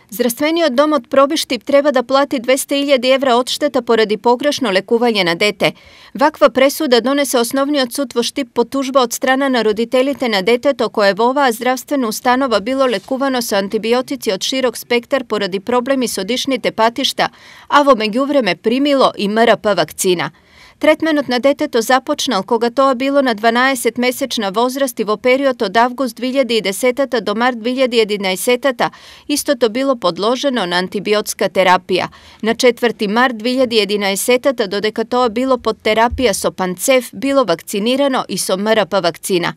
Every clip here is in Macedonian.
Здравствениот дом од Пробиштип треба да плати 200.000 евра одштета поради погрешно лекување на дете. Ваква пресуда донесе Основниот суд во Штип по тужба од страна на родителите на детето кое во оваа здравствена установа било лекувано со антибиотици од широк спектар поради проблеми со дишните патишта, а во меѓувреме примило и МРП вакцина. Третменот на детето започнал кога тоа било на 12-месечна возраст и во период од август 2010 до март 2011 истото било подложено на антибиотска терапија. На 4 март 2011 додека тоа било под терапија со Панцев, било вакцинирано и со МРП вакцина.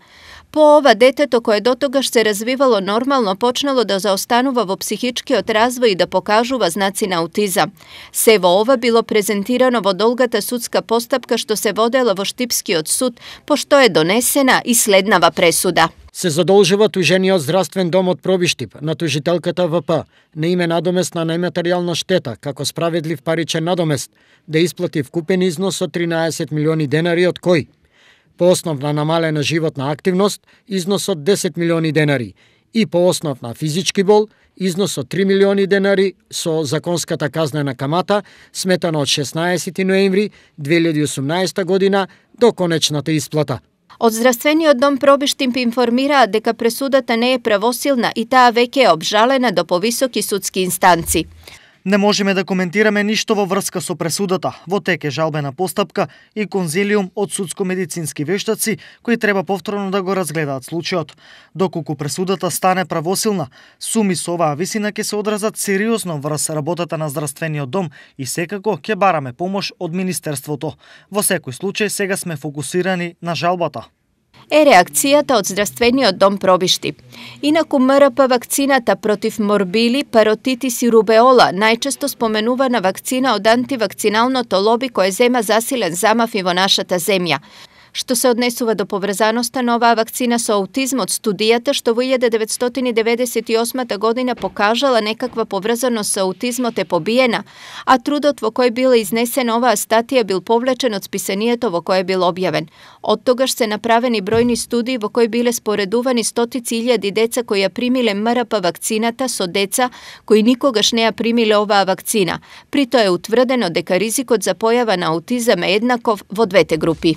По ова, детето кое дотогаш се развивало нормално почнало да заостанува во психичкиот развој и да покажува знаци на аутизам. Се во ова било презентирано во долгата судска постапка што се водела во Штипскиот суд, пошто е донесена и следнава пресуда. Се задолжува тужениот здравствен дом од Пробиштип на тужителката ВП на име надомест на нематеријална штета како справедлив паричен надомест да исплати вкупен износ од 13 милиони денари од кој по основ на намалена животна активност, износ од 10 милиони денари и по основ на физички бол, износ од 3 милиони денари со законската казнена камата, сметано од 16 ноември 2018 година до конечната исплата. Од Здравствениот дом Пробиштип информираат дека пресудата не е правосилна и таа веќе е обжалена до повисоки судски инстанци. Не можеме да коментираме ништо во врска со пресудата. Во тек е жалбена постапка и конзилиум од судско-медицински вештаци кои треба повторно да го разгледаат случајот. Доколку пресудата стане правосилна, суми со оваа висина ќе се одразат сериозно врз работата на Здравствениот дом и секако ќе бараме помош од Министерството. Во секој случај сега сме фокусирани на жалбата. Е реакцијата од Здравствениот дом Пробиштип. Инаку МРП вакцината против морбили, паротитис и рубеола, најчесто споменувана вакцина од антивакциналното лоби кое зема засилен замав и во нашата земја. Што се однесува до поврзаноста на оваа вакцина со аутизмот, студијата што во 1998 година покажала некаква поврзаност со аутизмот е побиена, а трудот во кој била изнесена оваа статија бил повлечен од списанието во кое бил објавен. Од тогаш се направени бројни студии во кои биле споредувани стотици илјади деца кои ја примиле МРП вакцината со деца кои никогаш не ја примиле оваа вакцина. При тоа е утврдено дека ризикот за појава на аутизам е еднаков во двете групи.